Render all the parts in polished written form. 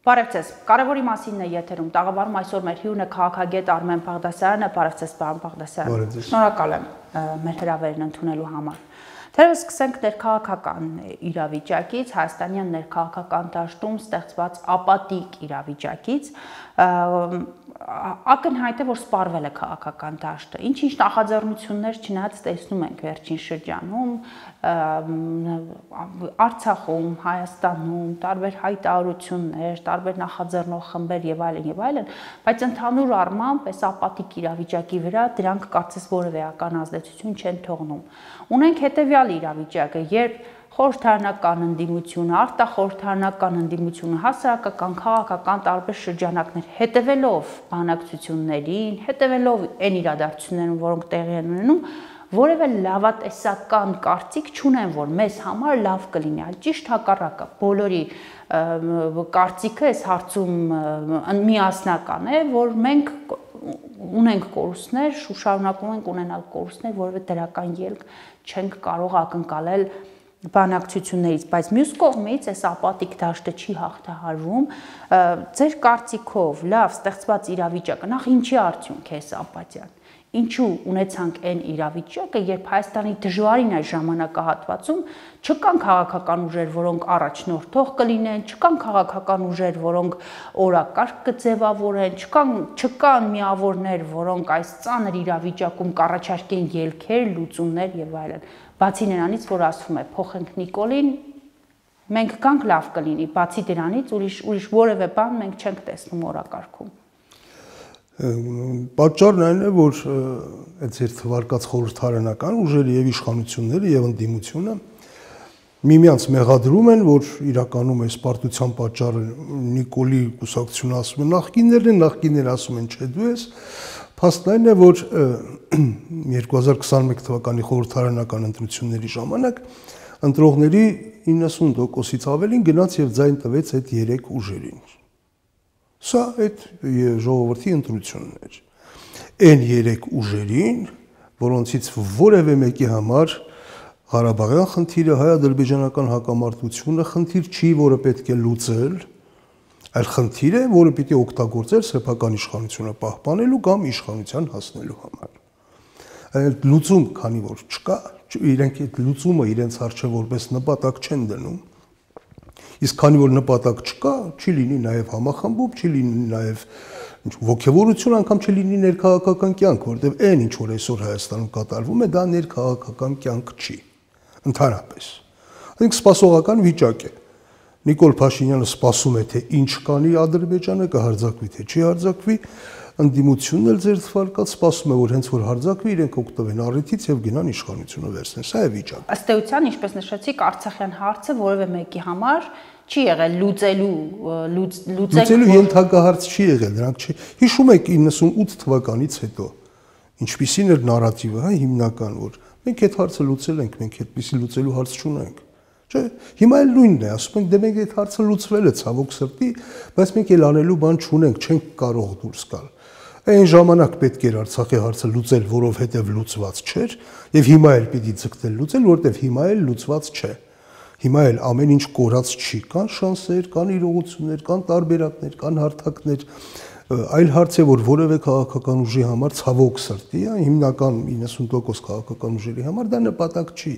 Բարև ձեզ, կարևորի մասին է եթերում, տաղավարում այսօր մեր հյուրն է քաղաքագետ Արմեն Բաղդասարյանը, բարև ձեզ պարոն Բաղդասարյան, շնորհակալ եմ մեր հրավերն ընդունելու համար։ Թերևս սկսենք ներքաղաքական իրավիճակից, հայաստանյան ներքաղաքական դաշտում ստեղծված ապատիկ իրավիճակից, ակնհայտ է, որ սպառվել է քաղաքական դաշտը, ինչ-ինչ նախաձեռնություններ չնայած տեսնում ենք վերջին շրջանում, Արցախում, Հայաստանում, տարբեր հայտարարություններ, տարբեր նախաձեռնող խմբեր եւ այլն, բայց ընդհանուր առմամբ այս ապատիկ իրավիճակի վրա դրանք կարծես որևէ էական ազդեցություն չեն թողնում։ Ունենք հետեւյալ իրավիճակը, երբ խորհրդարանական ընդդիմությունը, արտախորհրդարանական ընդդիմությունը, հասարակական, քաղաքական տարբեր շրջանակներ հետևելով բանակցություններին, հետևելով այն իրադարձություններին, որոնք տեղի են ունենում, որևէ լավատեսական կարծիք չունեն, որ մեզ համար լավ կլինի, այլ ճիշտ հակառակը, բոլորի կարծիքը այս հարցում միասնական է, որ մենք ունենք կորուստներ, շարունակում ենք ունենալ կորուստներ, որևէ դրական ելք չենք կարող ակնկալել բանակցություններից, բայց մյուս կողմից այս ապատիկ դաշտը չի հաղթահարվում, ձեր կարծիքով լավ ստեղծված իրավիճակը, նախ ինչի արդյունք է այս ապաթիան, ինչու ունեցանք այն իրավիճակը, երբ Հայաստանի դժվարին այս ժամանակահատվածում չկան քաղաքական ուժեր, որոնք առաջնորդող կլինեն, չկան քաղաքական ուժեր, որոնք օրակարգ կձևավորեն, չկան միավորներ, որոնք այս ծանր իրավիճակում կառաջարկեն ելքեր, լուծումներ եւ այլն։ Բացի նրանից, որ ասվում է փոխենք Նիկոլին, մենք կանք լավ կլինի, բացի դրանից ուրիշ որևէ բան մենք չենք տեսնում օրակարգում։ Պատճառն այն է, որ այդ ձեր թվարկած խորհրդարանական ուժերը եւ իշխանությունները եւ ընդդիմությունը միմյանց մեղադրում են, որ իրականում այս պարտության պատճառը Նիկոլի կուսակցությունը ասում է նախկինները ասում են չէ դու ես, փաստն այն է, որ 2021 թվականի խորհրդարանական ընտրությունների ժամանակ ընտրողների 90%-ից ավելին գնաց եւ ձայն տվեց այդ 3 ուժերին։ Սա այդ ժողովրդի ընտրությունն էր։ Այն 3 ուժերին, որոնցից որևէ մեկի համար Ղարաբաղյան խնդիրը, հայ-ադրբեջանական հակամարտությունը խնդիր չի, որը պետք է լուծել, այլ խնդիր է, որը պիտի օգտագործել սեփական իշխանությունը պահպանելու կամ իշխանության հասնելու համար։ Այդ լուծում, քանի որ չկա, իրենք այդ լուծումը իրենց առջև որպես նպատակ չեն դնում, իսկ քանի որ նպատակ չկա, չի լինի նաև համախմբում, չի լինի նաև ոգևորություն, անգամ չլինի ներքաղաքական կյանք, որտեղ այն ինչ որ այսօր Հայաստանում կատարվում է, դա ներքաղաքական կյանք չի, ընդհանրապես։ Այսինքն սպասողական վիճակ է։ Նիկոլ Փաշինյանը սպասում է, թե ինչ կանի Ադրբեջանը, կհարձակվի, թե չի հարձակվի, ընդդիմությունն էլ ձեր թվարկած սպասում է, որ հենց որ հարձակվի, իրենք օգտվեն առիթից եւ գնան իշխանությունը վերցնեն։ Սա է վիճակը։ Ըստ էության, ինչպես նշեցիք, Արցախյան հարցը որևէ մեկի համար չի եղել լուծելու ենթակահարց չի եղել, դրանք չի։ Հիշում եք 98 թվականից հետո ինչպիսին էր նարատիվը, հա, հիմնական, որ մենք այդ հարցը լուծել ենք, մենք այդպիսի լուծելու հարց չունենք։ Չէ, հիմա էլ նույնն է, ասում ենք, դե մենք այդ հարցը լուծվել է ցավոք սրտի, բայց մենք էլ անելու բան չունենք, չենք կարող դուրս գալ։ Այն ժամանակ պետք էր Արցախի հարցը լուծել, որովհետև լուծված չէր, եւ հիմա էլ պիտի ձգտել լուծել, որովհետև հիմա էլ լուծված չէ։ Հիմա էլ ամեն ինչ կորած չի, կան շանսեր, կան իրողություններ, կան տարբերակներ, կան հարթակներ, այլ հարց է, որ որևէ քաղաքական ուժի համար ցավոք սրտի, հիմնական 90% քաղաքական ուժերի համար դա նպատակ չի։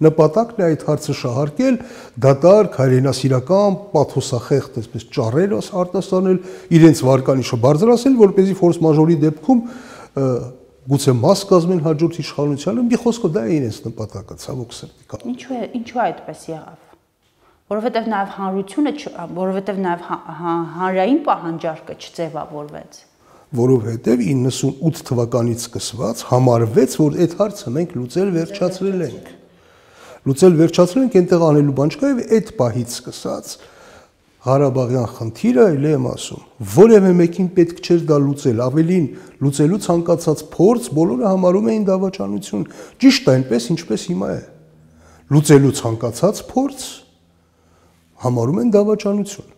Նպատակն է այդ հարցը շահարկել, դատարկ, հայրենասիրական, պաթոսախեղծ, այսպես ճառեր արտասանել, իրենց վարկանիշը բարձրացնել, որպեսզի ֆորս մաժորի դեպքում գուցե մաս կազմեն հաջորդ իշխանությանը, մի խոսքով դա է իրենց նպատակը, ցավոք սրտի կա։ Ինչու այդպես եղավ։ Որովհետև նաև հանրությունը, որովհետև նաև հանրային պահանջարկը չձևավորվեց։ Որովհետև 98 թվականից սկսված համարվեց, որ այդ հարցը մենք լուծել վերջացրել ենք։ Լուծել վերջացրել ենք, այնտեղ անելու բան չկա եւ այդ պահից սկսած Ղարաբաղյան խնդիրը, այլ եմ ասում, որևէ մեկին պետք չէր դա լուծել, ավելին լուծելու ցանկացած փորձ բոլորը համարում էին դավաճանություն, ճիշտ այնպես ինչպես հիմա է։ Լուծելու ցանկացած փորձ համարում են դավաճանություն։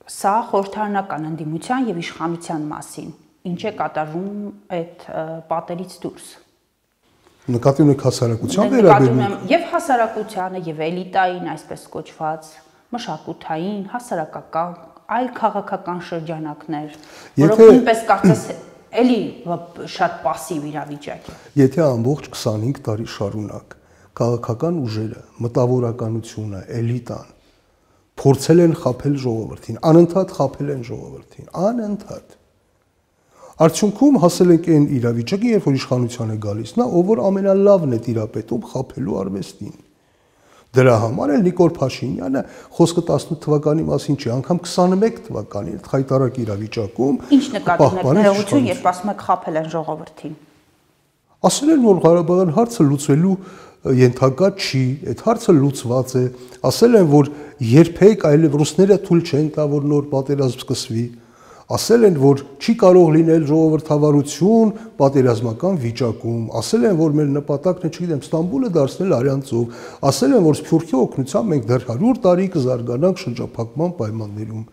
Սա խորհրդարանական ընդդիմության եւ իշխանության մասին, ինչ է կատարվում այդ պատերից դուրս։ Նկատի ունեք հասարակության վերաբերյալ եւ հասարակությանը եւ էլիտային, այսպես կոչված, մշակութային, հասարակական այլ քաղաքական շրջանակներ, որոնք նույնպես կարծես էլի շատ пассив իրավիճակ է։ Եթե ամբողջ 25 տարի շարունակ քաղաքական ուժերը, մտավորականությունը, էլիտան փորձել են խաբել ժողովրդին, անընդհատ խաբել են ժողովրդին, անընդհատ։ Արդյունքում հասել ենք այն իրավիճակի, երբ որ իշխանության է գալիս նա, ով որ ամենալավն է տիրապետում խաբելու արվեստին։ Դրա համար էլ Նիկոլ Փաշինյանը խոսքը 18 թվականի մասին չի, անգամ 21 թվականին խայտարակ իրավիճակում ինչ նկատում եք ներողություն, երբ ասում եք խաբել են ժողովրդին։ Ասել են, որ Ղարաբաղյան հարցը լուծվելու ենթակա չի, այդ հարցը լուծված է, ասել են, որ երբեք այլև ռուսները թույլ չեն տա, որ նոր պատերազմ սկսվի, ասել են, որ չի կարող լինել ժողովրդավարություն պատերազմական վիճակում, ասել են, որ մեր նպատակն է, չգիտեմ, Ստամբուլը դարձնել արյան ծով, ասել են, որ Սփյուռքի օգնությամբ մենք դեռ 100 տարի կզարգանանք շրջափակման պայմաններում։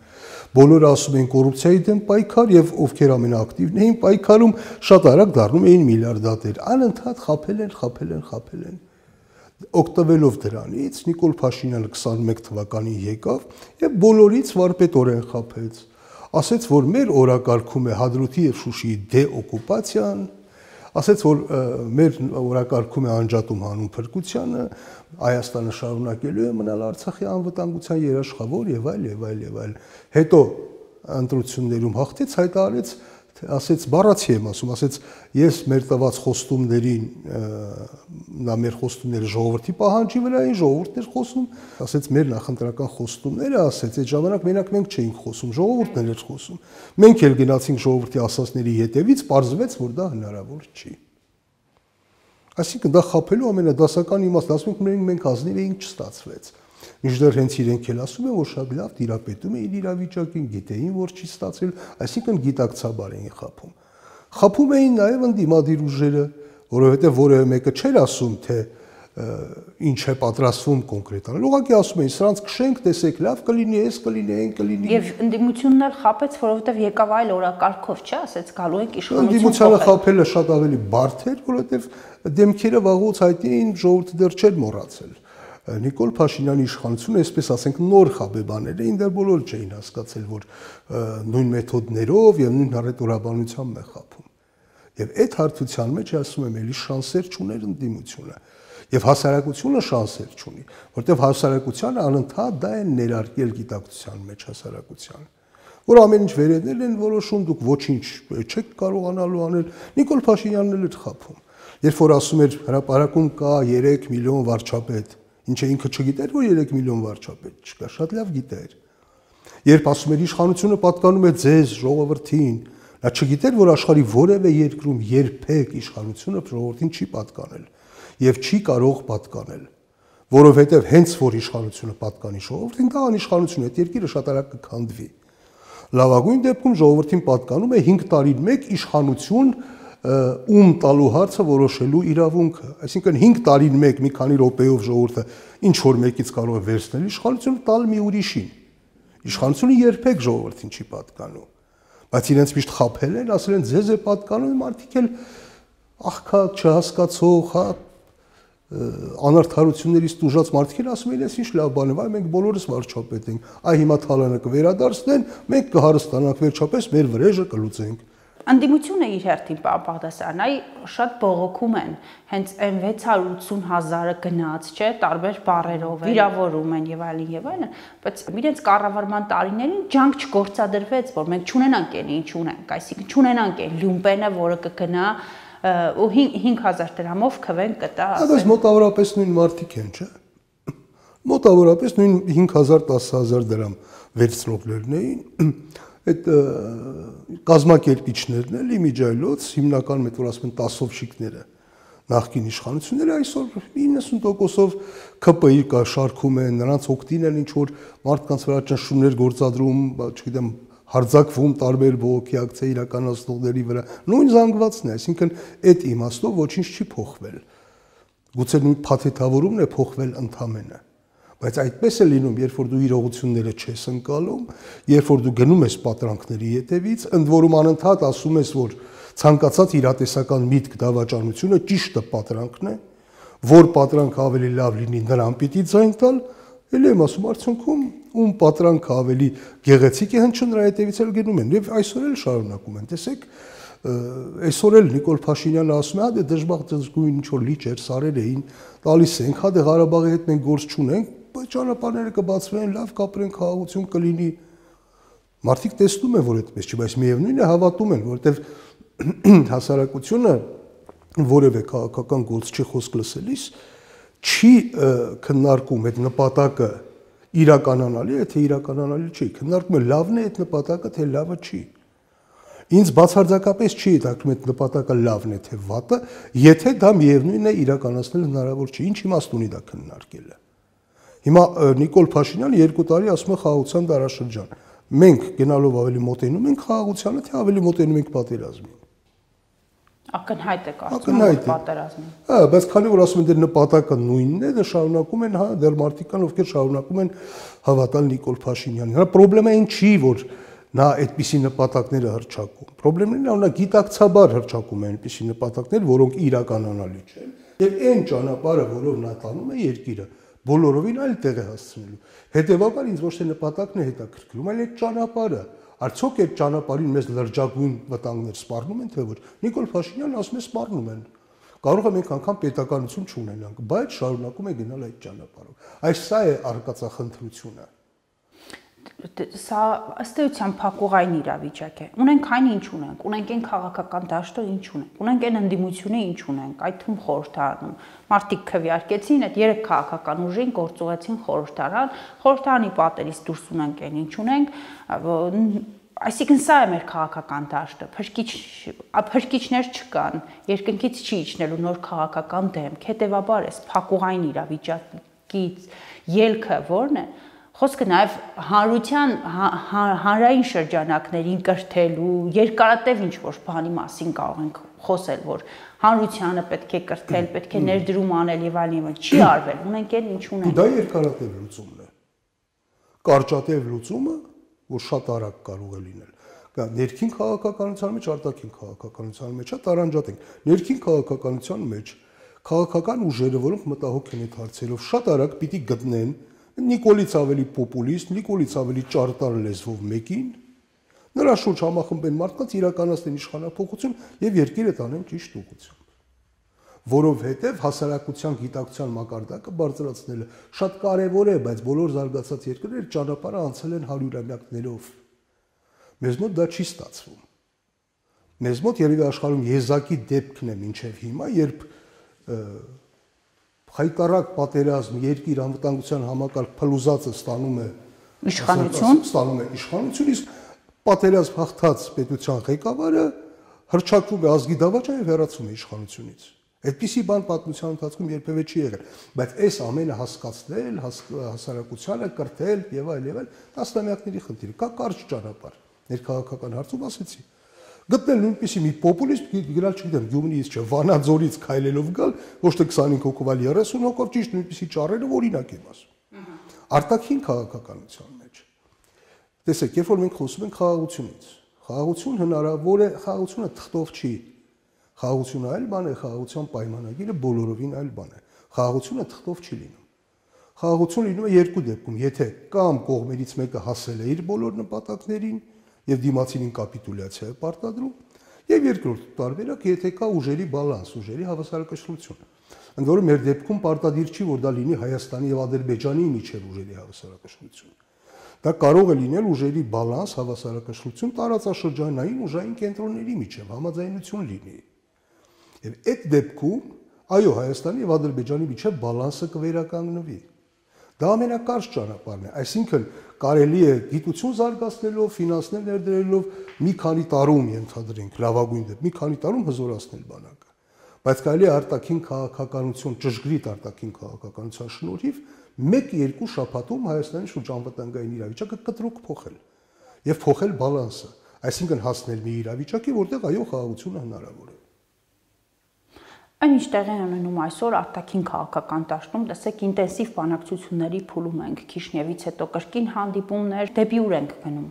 Բոլորը ասում են կոռուպցիայի դեմ պայքար եւ ովքեր ամենաակտիվն էին պայքարում, շատ արագ դառնում էին միլիարդատեր, անընդհատ խաբել են։ Օգտվելով դրանից Նիկոլ Փաշինյանը 21 թվականին եկավ եւ բոլորից վարպետորեն խաբեց։ Ասեց, որ մեր օրակարգում է Հադրութի եւ Շուշիի դեօկուպացիան, ասեց, որ մեր օրակարգում է անջատում հանուն փրկությանը, Հայաստանը շարունակելու է մնալ Արցախի անվտանգության երաշխավոր եւ այլ։ Հետո ընտրություններում հաղթեց, հայտարարեց, ասեց բառացի եմ ասում, ասեց ես մեր տված խոստումներին, նա մեր խոստումները ժողովրդի պահանջի վրա էին, ժողովուրդն էր խոսում, ասեց մեր նախընտրական խոստումները, ասեց այդ ժամանակ մենակ մենք չէինք խոսում, ժողովուրդն էր խոսում։ Մենք էլ գնացինք ժողովրդի ասածների հետևից, պարզվեց, որ դա հնարավոր չի։ Այսինքն դա խաբելու ամենադասական իմաստը, ասում ենք մենք ազնիվ էինք, չստացվեց։ Մինչդեռ հենց իրենք էլ ասում են, որ շատ լավ տիրապետում էին իրավիճակին, գիտեին, որ չի ստացել, այսինքն գիտակցաբար էին խաբում։ Խաբում էին նաև ընդդիմադիր ուժերը, որովհետև որևէ մեկը չէր ասում, թե ինչ է պատրաստվում կոնկրետ անել։ Ուղղակի ասում էին, սրանց քշենք, տեսեք, լավ կլինի, էս կլինի, այն կլինի։ Եվ ընդդիմությունն էլ խաբեց, որովհետև եկավ այլ օրակարգով, չէ՞, ասեց գալու ենք իշխանություն։ Ընդդիմությանը խաբելը շատ ավելի բարդ էր, որովհետև դեմքերը վաղուց հայտնի էին, ժողովուրդը դեռ չէր մոռացել։ Նիկոլ Փաշինյանի իշխանությունը, այսպես ասենք, նոր խաբեբաներ էին, դեռ բոլորը չէին հասկացել, որ նույն մեթոդներով եւ նույն հռետորաբանությամբ է խաբում։ Եվ այդ հարթության մեջ ասում եմ, էլի շանսեր չուներ ընդդիմությունը։ Եվ հասարակությունը շանսեր չունի, որտեղ հասարակությանը անընդհատ դա են ներարկել գիտակցության մեջ հասարակության, որ ամեն ինչ վերևներ են որոշում, դուք ոչինչ չեք կարողանալու անել։ Նիկոլ Փաշինյանն էլ էր խաբում։ Երբ որ ասում էր հրապարակում կա 3 միլիոն վարչապետ, ինչը ինքը չգիտեր, որ 3 միլիոն վարչապետ չկա, շատ լավ գիտեր։ Երբ ասում էր իշխանությունը պատկանում է ձեզ, ժողովրդին, նա չգիտեր, որ աշխարհի որևէ երկրում երբեք իշխանությունը ժողովրդին չի պատկանել եւ չի կարող պատկանել, որովհետեւ հենց որ իշխանությունը պատկանի ժողովրդին, դա անիշխանություն է, այդ երկիրը շատ արագ կքանդվի։ Լավագույն դեպքում ժողովրդին պատկանում է 5 տարին մեկ իշխանություն ում տալու հարցը որոշելու իրավունքը, այսինքն 5 տարին մեկ մի քանի րոպեով ժողովուրդը ինչ որ մեկից կարող է վերցնել իշխանությունը տալ մի ուրիշին։ Իշխանությունը երբեք ժողովրդին չի պատկանում, բայց իրենց միշտ խաբել են, ասել են ձեզ է պատկանում, մարդիկ էլ աղքատ, չհասկացող, անարդարություններից տուժած մարդիկ էլ ասում են, ես ինչ լավ բան է, վայ մենք բոլորս վարչապետ ենք, այ հիմա թալանը կվերադարձնեն, մենք կհարստանանք վերջապես մեր վրեժը կլուծենք։ Ընդդիմությունը իր հերթին Պապաղդասարյան, այ շատ բողոքում են, հենց այն 680,000-ը գնաց, չէ, տարբեր բառերով վիրավորում են եւ այլն, բայց իրենց կառավարման տարիներին ջանք չգործադրվեց, որ մենք չունենանք այն ինչ ունենք, այսինքն չունենանք այն լյումպենը, որը կգնա ու 5000 դրամով քվեն կտա։ Բայց մոտավորապես նույն մարդիկ են, չէ։ Մոտավորապես նույն 5000-10000 դրամ վերցնողներն էին։ Այդ կազմակերպիչներն էլ իմիջայլոց հիմնական մեծ որ ասում են տասովշիկները նախկին իշխանությունները այսօր 90%-ով ԿՊԻ կա շարքում են, նրանց օգտին են ինչ որ մարդկանց վրա ճնշումներ գործադրում, չգիտեմ, հարձակվում տարբեր բողոքի ակցիա իրականացնողների վրա, նույն զանգվածն է, այսինքն այդ իմաստով ոչինչ չի փոխվել։ Գուցե նույն փաթեթավորումն է փոխվել ընդամենը։ Բայց այդպես է լինում, երբ որ դու իրողությունները չես ընկալում, երբ որ դու գնում ես պատրանքների հետևից, ընդ որում անընդհատ ասում ես, որ ցանկացած իրատեսական միտք դավաճանությունը ճիշտը պատրանքն է, որ պատրանքը ավելի լավ լինի, նրան պիտի ձայն տալ, էլ եմ ասում, արդյունքում ում պատրանքը ավելի գեղեցիկ է հնչում, նրա հետևից էլ գնում են եւ այսօր էլ շարունակում են։ Տեսեք, այսօր էլ Նիկոլ Փաշինյանը ասում է, հա դե դժբախտ ինչ որ լիճեր, սարեր էին, տալիս ենք, հա դե Ղարաբաղի հետ մենք գործ չունենք, բայց ճանապարհները կբացվեն, լավ կապրեն, խաղաղություն կլինի։ Մարդիկ տեսնում են, որ այդպես չի, բայց միևնույնն է հավատում են, որովհետեւ հասարակությունը որևէ քաղաքական գործ չի խոսք լսելիս, չի քննարկում այդ նպատակը իրականանալի է, թե իրականանալի չի, քննարկում է լավն է այդ նպատակը, թե լավը չի։ Ինձ բացարձակապես չի հետաքրքրում այդ նպատակը լավն է, թե վատը, եթե դա միևնույնն է իրականացնել հնարավոր չի, ինչ իմաստ ունի դա քննարկելը։ Հիմա Նիկոլ Փաշինյանը 2 տարի ասում է խաղաղության դարաշրջան։ Մենք գնալով ավելի մոտենում ենք խաղաղությանը, թե ավելի մոտենում ենք պատերազմին։ Ակնհայտ է կարծում պատերազմին։ Հա, բայց քանի որ ասում են դեռ նպատակը նույնն է, դա շարունակում են, հա, դեռ մարդիկ կան, ովքեր շարունակում են հավատալ Նիկոլ Փաշինյանին։ Հա, խնդրեմը այն չի, որ նա այդպիսի նպատակները հռչակում։ Խնդրեմն նա գիտակցաբար հռչակում է այնպիսի նպատակներ, որոնք իրականանալի չեն։ Եվ այն ճանապարհը, որով նա տանում է երկիրը, բոլորովին այլ տեղ է հասցնելու։ Հետևաբար ինձ ոչ թե նպատակն է հետաքրքրում, այլ այդ ճանապարհը։ Արդյոք այդ ճանապարհին մեզ լրջագույն վտանգներ սպառնում են, թե ոչ։ Նիկոլ Փաշինյանն ասում է սպառնում են։ Կարող է մենք անգամ պետականություն չունենանք, բայց շարունակում է գնալ այդ ճանապարհով։ Այս սա է արկածախնդրությունը։ Սա ըստ էության փակուղային իրավիճակ է։ Ունենք այն ինչ ունենք, ունենք այն քաղաքական դաշտը ինչ ունենք, ունենք այն ընդդիմությունը ինչ ունենք, այդ թվում խորհրդարանում։ Մարդիկ քվեարկեցին այդ 3 քաղաքական ուժին, գործուղեցին խորհրդարան, խորհրդարանի պատերից դուրս ունենք այն ինչ ունենք, այսինքն սա է մեր քաղաքական դաշտը, փրկիչներ չկան, երկնքից չի իջնելու նոր քաղաքական դեմք, հետևաբար էս փակուղային իրավիճակից ելքը ո՞րն է։ Խոսքը նաև հանրության հանրային շրջանակներին կրթելու, երկարատև ինչ-որ բանի մասին կարող ենք խոսել, որ հանրությանը պետք է կրթել, պետք է ներդրում անել եւ այլն, չի արվել, ունենք այն ինչ ունենք։ Դա երկարատև լուծումն է։ Կարճատև լուծումը, որ շատ արագ կարող է լինել։ Կա ներքին քաղաքականության մեջ, արտաքին քաղաքականության մեջ, տարանջատենք։ Ներքին քաղաքականության մեջ քաղաքական ուժերը, որոնք մտահոգ են այդ հարցերով, շատ արագ պիտի գտնեն Նիկոլից ավելի պոպուլիստ, Նիկոլից ավելի ճարտար լեզվով մեկին, նրա շուրջ համախմբեն մարդկանց, իրականացնեն իշխանափոխություն եւ երկիրը տանեն ճիշտ ուղղությամբ։ Որովհետեւ հասարակության գիտակցության մակարդակը բարձրացնելը շատ կարեւոր է, բայց բոլոր զարգացած երկրները ճանապարհը անցել են հարյուրամյակներով։ Մեզ մոտ դա չի ստացվում։ Մեզ մոտ երևի աշխարհում եզակի դեպքն է մինչեւ հիմա, երբ հայտարարակ պատերազմ երկիր անվտանգության համակարգ փլուզածը ստանում է իշխանություն, իսկ պատերազմ հաղթած պետության ղեկավարը հռչակվում է ազգի դավաճան եւ հեռացվում է իշխանությունից։ Այդպիսի բան պատմության ընթացքում երբևէ չի եղել, բայց այս ամենը հասկացնել, հասարակությանը կրթել եւ այլ տասնամյակների խնդիր է։ Կա կարճ ճանապարհ։ Ներքաղաքական հարցում ասեցի։ Գտնել նույնպիսի մի պոպուլիստ գնալ, չգիտեմ, Գյումրիից չէ, Վանաձորից քայլելով գալ, ոչ թե 25 հոգով, այլ 30 հոգով, ճիշտ նույնպիսի ճառերը, օրինակ եմ ասում։ Արտաքին քաղաքականության մեջ։ Տեսեք, երբ որ մենք խոսում ենք խաղաղությունից, խաղաղություն հնարավոր է, խաղաղությունը թղթով չի։ Խաղաղությունը այլ բան է, խաղաղության պայմանագիրը բոլորովին այլ բան է։ Խաղաղությունը թղթով չի լինում։ Խաղաղություն լինում է երկու դեպքում, եթե կամ կողմերից մեկը հասել է իր բոլոր նպատակներին եւ դիմացինին կապիտուլյացիա է պարտադրում, եւ երկրորդ տարբերակ, եթե կա ուժերի բալանս, ուժերի հավասարակշռություն։ Ընդ որում մեր դեպքում պարտադիր չի, որ դա լինի Հայաստանի եւ Ադրբեջանի միջև ուժերի հավասարակշռություն։ Դա կարող է լինել ուժերի բալանս, հավասարակշռություն տարածաշրջանային ուժային կենտրոնների միջև համաձայնություն լինի։ Եվ այդ դեպքում, այո, Հայաստանի եւ Ադրբեջանի միջև բալանսը կվերականգնվի։ Դա ամենակարճ ճանապարհն է, այսինքն կարելի է գիտություն զարգացնելով, ֆինանսներ ներդրելով մի քանի տարում ենթադրենք լավագույն դեպք, մի քանի տարում հզորացնել բանակը։ Բայց կարելի է արտաքին քաղաքականություն, ճշգրիտ արտաքին քաղաքականության շնորհիվ 1-2 շաբաթում Հայաստանի շուրջ անվտանգային իրավիճակը կտրուկ փոխել եւ փոխել բալանսը, այսինքն հասնել մի իրավիճակի, որտեղ այո, խաղաղությունը հնարավոր է։ Այն ինչ տեղի ունենում այսօր արտաքին քաղաքական դաշտում, տեսեք, ինտենսիվ բանակցությունների փուլում ենք, Քիշնևից հետո կրկին հանդիպումներ, դեպի ուր ենք գնում։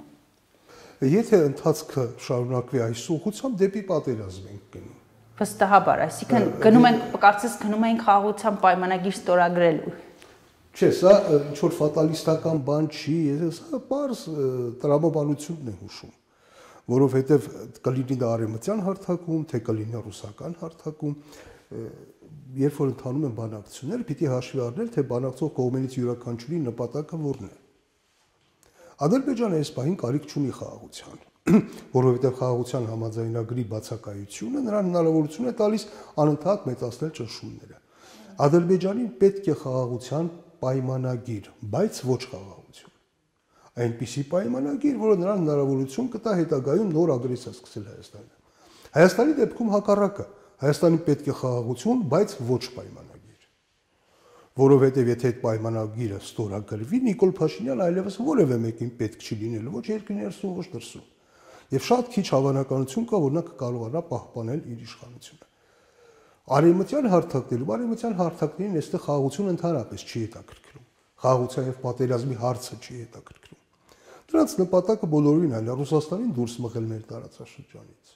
Եթե ընթացքը շարունակվի այս ուղղությամբ, դեպի պատերազմ ենք գնում։ Վստահաբար, այսինքն գնում ենք, կարծես գնում ենք խաղաղության պայմանագիր ստորագրելու։ Չէ, սա ինչ որ ֆատալիստական բան չի, սա բարձ տրամաբանությունն է հուշում, որովհետև կլինի դա արևմտյան հարթակում, թե կլինի ռուսական հարթակում, երբ որ ընթանում են բանակցությունները, պիտի հաշվի առնել, թե բանակցող կողմերից յուրաքանչյուրի նպատակը որն է։ Ադրբեջանը այս պահին կարիք չունի խաղաղության, որովհետև խաղաղության համաձայնագրի բացակայությունը նրան հնարավորություն է տալիս անընդհատ մեծացնել ճնշումները։ Ադրբեջանին պետք է խաղաղության պայմանագիր, բայց ոչ խաղաղություն։ Այնպիսի պայմանագիր, որը նրան հնարավորություն կտա հետագայում նոր ագրեսիա սկսել Հայաստանը։ Հայաստանի դեպքում հակառակը, Հայաստանին պետք է խաղաղություն, բայց ոչ պայմանագիր։ Որովհետև եթե այդ պայմանագիրը ստորագրվի, Նիկոլ Փաշինյանը այլևս որևէ մեկին պետք չի լինելու, ոչ երկրի ներսում, ոչ դրսում։ Եվ շատ քիչ հավանականություն կա, որ նա կկարողանա պահպանել իր իշխանությունը։ Արևմտյան հարթակներին այստեղ խաղաղությունը ընդհանրապես չի հետաքրքրում։ Խաղաղության եւ պատերազմի հարցը չի հետաքրքրում։ Դրանց նպատակը բոլորովին այլ է Ռուսաստանին դուրս մղել մեր տարածաշրջանից։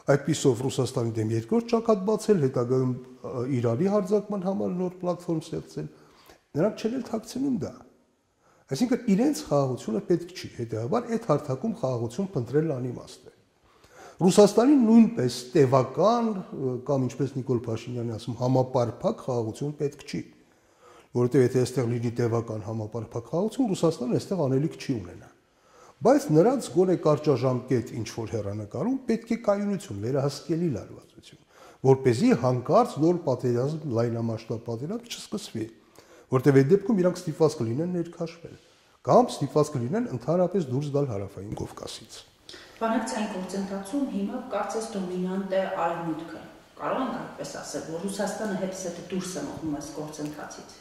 Այդպիսով Ռուսաստանի դեմ երկրորդ ճակատ բացել, հետագայում Իրանի հարձակման համար նոր պլատֆորմ ստեղծել։ Նրանք չեն էլ թաքցնում դա։ Այսինքն իրենց խաղաղությունը պետք չի, հետեւաբար այդ հարթակում խաղաղություն փնտրելն անիմաստ է։ Ռուսաստանին նույնպես տևական կամ ինչպես Նիկոլ Փաշինյանը ասում, համապարփակ խաղաղություն պետք չի, որովհետև եթե այստեղ լինի տևական համապարփակ խաղաղություն, Ռուսաստանը այստեղ անելիք չի ունենա։ Բայց նրանց գոնե կարճաժամկետ ինչ որ հեռանկարում պետք է կայունություն, վերահսկելի լարվածություն, որպեսզի հանկարծ նոր պատերազմ, լայնամասշտաբ պատերազմ չսկսվի, որտեղ այդ դեպքում իրանք ստիպված կլինեն ներքաշվել կամ ստիպված կլինեն ընդհանրապես դուրս գալ Հարավային Կովկասից։ Բանակցային գործընթացում հիմա կարծես դոմինանտ է Արևմուտքը։ Կարող ենք այդպես ասել, որ Ռուսաստանը հետզհետե դուրս է մղում այս գործընթացից։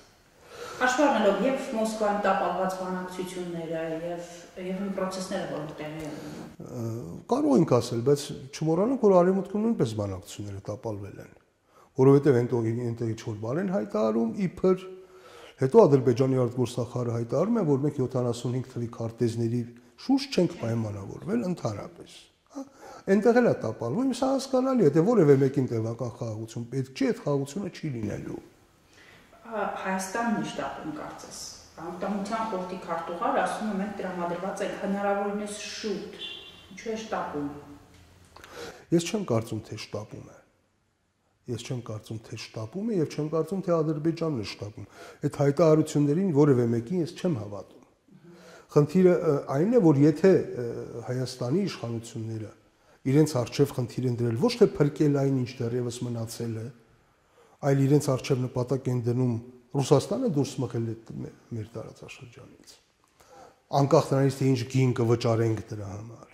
Հաշվի առնելով եւ Մոսկվայում տապալված բանակցությունները եւ այն պրոցեսները, որոնք տեղի են ունենում։ Կարող ենք ասել, բայց չմոռանանք, որ Արևմուտքում նույնպես բանակցությունները տապալվել են, որովհետեւ այնտեղից որ բան են հայտարարում, իբր հետո Ադրբեջանի արտգործնախարարը հայտարարում է, որ մենք 75 թվի քարտեզների շուրջ չենք պայմանավորվել ընդհանրապես։ Այնտեղ էլ է տապալվում, սա հասկանալի է, թե որևէ մեկին տևական խաղաղություն պետք չի, այդ խաղաղությունը չի լինելու։ Հայաստանն է շտապում կարծես։ Անվտանգության խորհրդի քարտուղարը ասում է, մենք տրամադրված ենք հնարավորինս շուտ։ Ինչու է շտապում։ Ես չեմ կարծում, թե շտապում է։ Ես չեմ կարծում, թե շտապում է եւ չեմ կարծում, թե Ադրբեջանն է շտապում։ Այդ հայտարարություններին որևէ մեկին ես չեմ հավատում։ Խնդիրը այն է, որ եթե Հայաստանի իշխանությունները իրենց արժև խնդիր են դրել ոչ թե փրկել այն, ինչ դեռևս մնացել է, այլ իրենց արժև նպատակ են դնում Ռուսաստանը դուրս մղել մեր տարածաշրջանից։ Անկախ նրանից, թե ինչ գին կվճարենք դրա համար։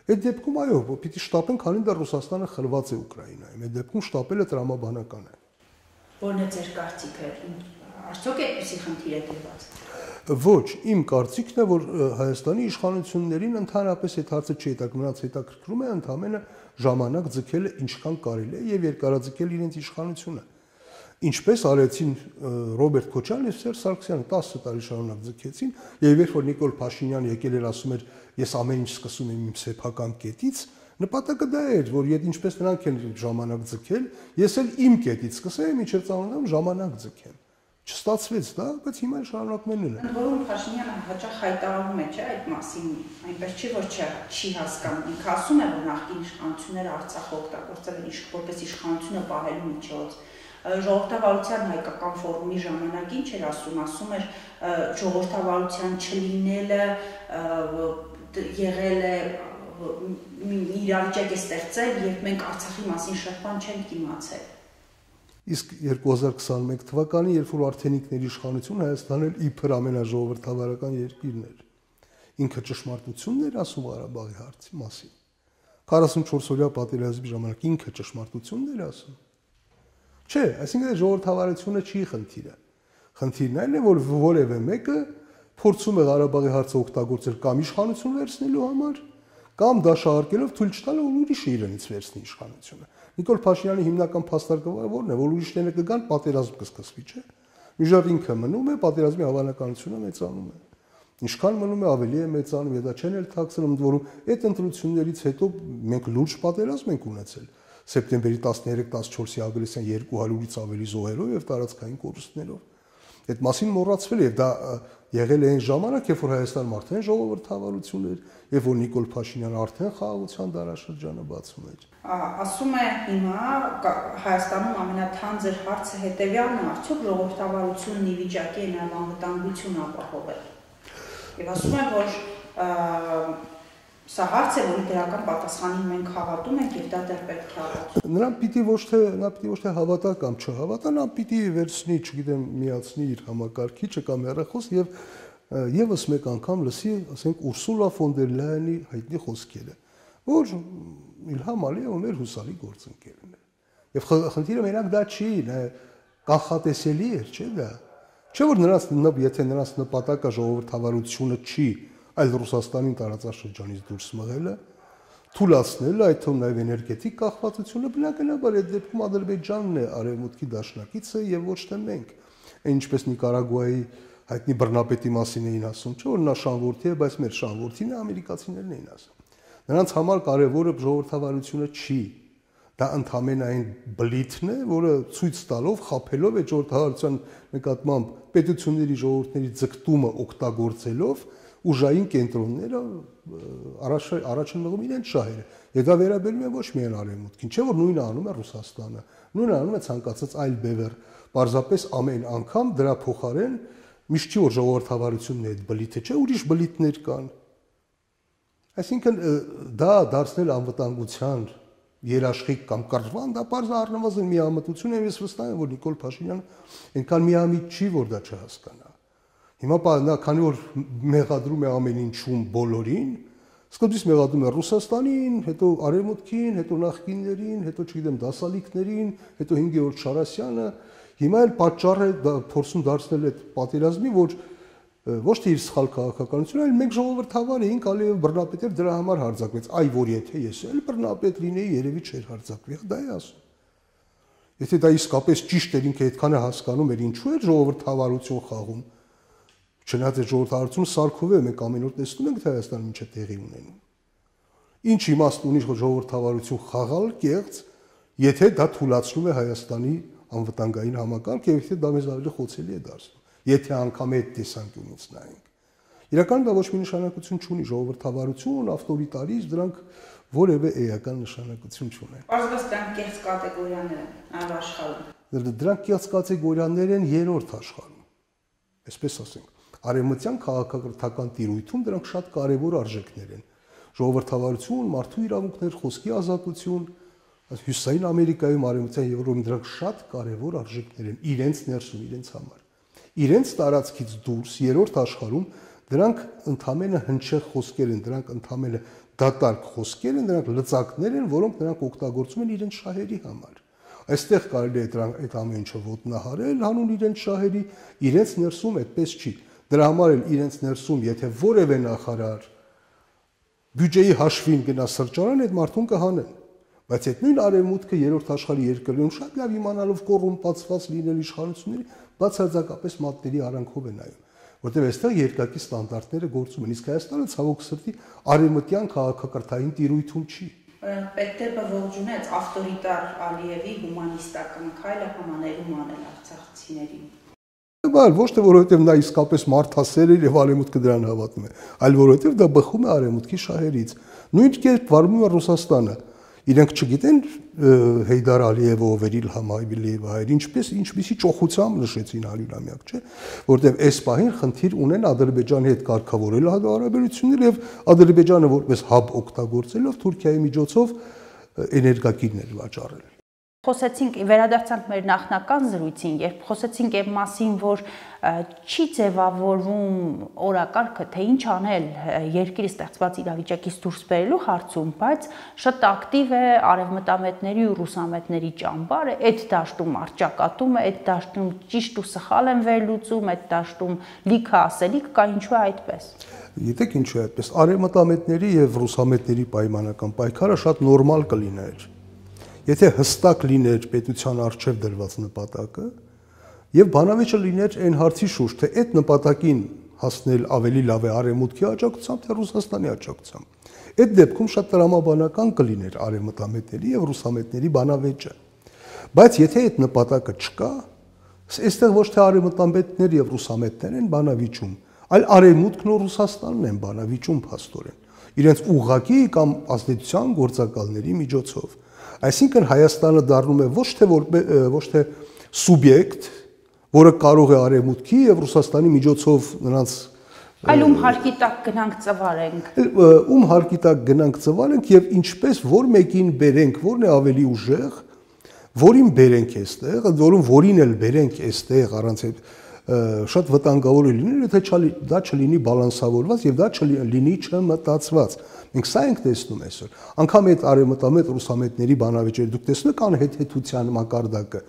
Այդ դեպքում այո, պիտի շտապեն, քանի դեռ Ռուսաստանը խլված է Ուկրաինայում։ Այդ դեպքում շտապելը տրամաբանական է։ Որն է ձեր կարծիքը։ Արդյոք այդպիսի խնդիր է դրված։ Ոչ, իմ կարծիքն է, որ Հայաստանի իշխանություններին ընդհանրապես այդ հարցը չի հետաքրքրում, նրանց հետաքրքրում է ընդամենը ժամանակ ձգելը ինչքան կարելի է եւ երկարաձգել իրենց իշխանությունը։ Ինչպես արեցին Ռոբերտ Քոչարյանն եւ Սերժ Սարգսյանը 10 տարի շարունակ ձգեցին, եւ երբ որ Նիկոլ Փաշինյանը եկել էր ասում էր, ես ամեն ինչ սկսում եմ իմ սեփական կետից, նպատակը դա էր, որ եթե ինչպես նրանք են ժամանակ ձգել, ես էլ իմ կետից սկսեմ, ինչեր ծանոթանում ժամանակ ձգեմ։ Չստացվեց դա, բայց հիմա շարունակում են լինել։ Ընդ որում Փաշինյանը հաճախ հայտարարում է, չէ, այդ մասին, այնպես չի, որ չի հասկանում։ Ինքը ասում է, որ նախկին իշխանությունները Արցախը օգտագործել են որպես իշխանությունը պահելու միջոց։ Ժողովրդավարության հայկական ֆորումի ժամանակին չէր ասում էր ժողովրդավարության չլինելը եղել է իրավիճակ է ստեղծել, երբ մենք Արցախի մասին շատ բան չենք իմացել։ Իսկ 2021 թվականին, երբ որ արդենիքների իշխանություն Հայաստանն էլ իբր ամենաժողովրդավարական երկիրն էր, ինքը ճշմարտությունն էր ասում Ղարաբաղի հարցի մասին։ 44-օրյա պատերազմի ժամանակ ինքը ճշմարտությունն էր ասում։ Չէ, այսինքն ժողովրդավարությունը չի խնդիրը։ Խնդիրն այն է, որ որևէ մեկը փորձում է Ղարաբաղի հարցը օգտագործել կամ իշխանություն վերցնելու համար, կամ դաշահարկելով թույլ չտալ, որ ուրիշը իրենից վերցնի իշխանությունը։ Նիկոլ Փաշինյանի հիմնական փաստարկը որն է, որ ուրիշները կգան, պատերազմ կսկսվի, չէ՞։ Միջով ինքը մնում է, պատերազմի հավանականությունը մեծանում է։ Ինչքան մնում է, ավելի է մեծանում, եւ դա չեն էլ թաքցնում, ընդ որում այդ ընտրություններից հետո մենք լուրջ պատերազմ ենք ունեցել։ Սեպտեմբերի 13-14-ի ագրեսիան 200-ից ավելի զոհերով եւ տարածքային կորուստներով։ Այդ մասին մոռացվել է, եւ դա եղել է այն ժամանակ, երբ որ Հայաստանում արդեն ժողովրդավարություն էր, երբ որ Նիկոլ Փաշինյանը արդեն խաղաղության դարաշրջանը բացում էր։ Ասում է հիմա Հայաստանում ամենաթանձր հարցը հետևյալն է, արդյոք ժողովրդավարությունն ի վիճակի է նաև անվտանգություն ապահովել։ Եվ ասում է, որ սա հարց է, որի դրական պատասխանին մենք հավատում ենք եւ դա դեռ պետք է հավատալ։ Նրան պիտի ոչ թե հավատա կամ չհավատա, նա պիտի վերցնի, չգիտեմ, միացնի իր համակարգիչը կամ հեռախոս եւ եւս մեկ անգամ լսի, ասենք, Ուրսուլա ֆոն դեր Լայենի հայտնի խոսքերը, որ Իլհամ Ալիևը մեր հուսալի գործընկերն է։ Եվ խնդիրը մենակ դա չի, կանխատեսելի է, չէ՞ դա։ Չէ՞ որ եթե նրանց նպատակը ժողովրդավարությունը չի, այլ Ռուսաստանին տարածաշրջանից դուրս մղելը, թույլատնելը, այդ թվում նաև էներգետիկ կախվածությունը, բնականաբար այդ դեպքում Ադրբեջանն է արևմուտքի դաշնակիցը եւ ոչ թե մենք։ Ինչպես Նիկարագուայի հայտնի բռնապետի մասին էին ասում, չէ՞ որ նա շանվորթի է, բայց մեր շանվորթին է ամերիկացիներն էին ասում։ Նրանց համար կարևորը ժողովրդավարությունը չի, դա ընդհանրապես այն բլիթն է, որը ցույց տալով, խաբելով այդ ժողովրդավարության նկատմամբ պետությունների ժողովուրդների ձգտումը օգտագործելով ուժային կենտրոնները առաջ են մղում իրենց շահերը։ Եվ դա վերաբերում է ոչ միայն արևմուտքին, չէ՞ որ նույնը անում է Ռուսաստանը, նույնը անում է ցանկացած այլ բևեռ, պարզապես ամեն անգամ դրա փոխարեն միշտ չի որ ժողովրդավարությունն է այդ բլիթը, չէ՞ ուրիշ բլիթներ կան։ Այսինքն դա դարձնել անվտանգության երաշխիք կամ կրճվան, դա պարզ առնվազն միամտություն է, ես վստահ եմ, որ Նիկոլ Փաշինյանը այնքան միամիտ չի, որ դա չհասկանա։ Հիմա նա քանի որ մեղադրում է ամեն ինչում բոլորին, սկզբից մեղադրում է Ռուսաստանին, հետո Արևմուտքին, հետո նախկիններին, հետո չգիտեմ դասալիքներին, հետո 5-րդ Շարասյանը, հիմա էլ պատճառը փորձում դարձնել այդ պատերազմի, որ ոչ թե իր սխալ քաղաքականությունը, այլ մենք ժողովրդավար էինք, Ալիև բռնապետ էր, դրա համար հարձակվեց։ Այ որ եթե ես էլ բռնապետ լինեի, երևի չէր հարձակվի, դա է ասում։ Եթե դա իսկապես ճիշտ էր, ինքը այդքանը հասկանում էր, ինչու էր ժողովրդավարություն խաղում։ Չնայած այդ ժողովրդավարությունը սարքով է, մենք ամեն օր տեսնում ենք, թե Հայաստանում ինչ է տեղի ունենում։ Ինչ իմաստ ունի ժողովրդավարություն խաղալ կեղծ, եթե դա թույլատրում է Հայաստանի անվտանգային համակարգը, եւ եթե դա մեզ ավելի խոցելի է դարձնում։ Եթե անգամ այդ տեսանկյունից նայենք։ Իրականում դա ոչ մի նշանակություն չունի, ժողովրդավարություն, ավտորիտարիզմ, դրանք որևէ էական նշանակություն չունեն։ Պարզապես դրանք կեղծ կատեգորիաներ են այլ աշխարհում։ Դրանք կեղծ կատեգորիաներ են երրորդ աշխարհում։ Այսպես ասենք, արևմտյան քաղաքակրթական տիրույթում դրանք շատ կարևոր արժեքներ են։ Ժողովրդավարություն, մարդու իրավունքներ, խոսքի ազատություն, Հյուսիսային Ամերիկայում, Արևմտյան Եվրոպայում դրանք շատ կարևոր արժեքներ են իրենց ներսում, իրենց համար։ Իրենց տարածքից դուրս երրորդ աշխարհում դրանք ընդհանրապես հնչեղ խոսքեր են, դրանք ընդհանրապես դատարկ խոսքեր են, դրանք լծակներ են, որոնք նրանք օգտագործում են իրենց շահերի համար։ Այստեղ կարելի է այդ ամեն ինչը ոտնահարել, հանուն իրենց շահերի, իրենց ներսում այդպես չի։ Դրա համար էլ իրենց ներսում, եթե որևէ նախարար բյուջեի հաշվին գնա սրճարան, այդ մարդուն կհանեն։ Բայց այդ նույն արևմուտքը երրորդ աշխարհի երկրներում շատ լավ իմանալով կոռումպացված լինել իշխանությունների, բացարձակապես մատների արանքով է նայում, որտեղ այստեղ երկակի ստանդարտները գործում են, իսկ Հայաստանը ցավոք սրտի արևմտյան քաղաքակրթային տիրույթում չի։ Պետտեպը ողջունեց ավտորիտար Ալիևի հումանիստական քայլը համաներում անել արցախցիներին։ Բայց ոչ թե որովհետև նա իսկապես մարդասեր էր եւ արևմուտքը դրան հավատում է, այլ որովհետև դա բխում է արևմուտքի շահերից։ Նույն կերպ վարվում է Ռուսաստանը։ Իրենք չգիտեն Հեյդար Ալիևը ով էր Իլհամ Ալիևը հայր, ինչպեսի ճոխությամբ նշեցին 100-ամյակ, չէ, որտեղ այս պահին խնդիր ունեն Ադրբեջանի հետ կարգավորել հարաբերությունները եւ Ադրբեջանը որպես հաբ օգտագործելով Թուրքիայի միջոցով էներգակիրներ վաճառել։ Խոսեցինք, վերադարձանք մեր նախնական զրույցին, երբ խոսեցինք այն մասին, որ չի ձևավորվում օրակարգը, թե ինչ անել երկրի ստեղծված իրավիճակից դուրս բերելու հարցում, բայց շատ ակտիվ է արևմտամետների ու ռուսամետների ճամբարը, այդ դաշտում առճակատում է, այդ դաշտում ճիշտ ու սխալ են վերլուծում, այդ դաշտում լիքը ասելիք կա, ինչու է այդպես։ Գիտեք ինչու է այդպես, արևմտամետների եւ ռուսամետների պայմանական պայքարը շատ նորմալ կլիներ։ Եթե հստակ լիներ պետության առջև դրված նպատակը եւ բանավեճը լիներ այն հարցի շուրջ, թե այդ նպատակին հասնել ավելի լավ է արևմուտքի աջակցությամբ, թե Ռուսաստանի աջակցությամբ։ Այդ դեպքում շատ տրամաբանական կլիներ արևմտամետների եւ ռուսամետների բանավեճը։ Բայց եթե այդ նպատակը չկա, Այստեղ ոչ թե արևմտամետներ եւ ռուսամետներ են բանավիճում, այլ արևմուտքն ու Ռուսաստանն են բանավիճում փաստորեն իրենց ուղղակի կամ ազդեցության գործակալների միջոցով։ Այսինքն Հայաստանը դառնում է ոչ թե սուբյեկտ, որը կարող է արևմուտքի եւ Ռուսաստանի միջոցով նրանց այլ ում հարկի տակ գնանք ծվարենք։ Ում հարկի տակ գնանք ծվարենք եւ ինչպես որ մեկին բերենք, որն է ավելի ուժեղ, որին բերենք այստեղ, որում որին էլ բերենք այստեղ առանց այդ շատ վտանգավոր է լինել, եթե դա չլինի բալանսավորված եւ դա չլինի չմտածված։ Մենք սա ենք տեսնում այսօր։ Անկամ այդ արևմտամետ ռուսամետների բանավեճերը դուք տեսնում եք անհեթեթության մակարդակը,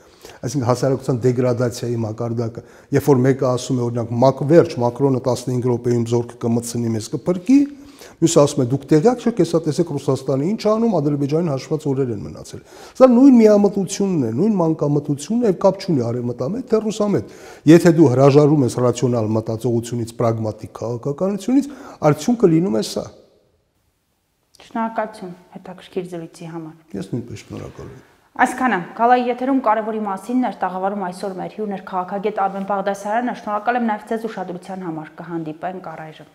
այսինքն հասարակության դեգրադացիայի մակարդակը, երբ որ մեկը ասում է օրինակ վերջ Մակրոնը 15 րոպեում զորքը կմտցնի մեզ կփրկի, մյուսը ասում է դուք տեղյակ չեք, հեսա տեսեք Ռուսաստանը ինչ անում, Ադրբեջանին հաշված օրեր են մնացել։ Սա նույն միամտությունն է, նույն մանկամտությունն է, կապ չունի արևմտամետ թե ռուսամետ։ Եթե դու հրաժարվում ես ռացիոնալ մտածողությունից, պրագմատիկ քաղաքականությունից, արդյունքը լինում է սա։ Շնորհակալություն հետաքրքիր զրույցի համար։ Ես նույնպես շնորհակալ եմ։ Այսքանը Գալայի եթերում կարևորի մասին էր տաղավարում այսօր մեր հյուրն էր քաղաքագետ Արմեն Բաղդասարյանը։ Շնորհակալ եմ նաև ձեզ ուշադրության համար։ Կհանդիպենք առայժմ։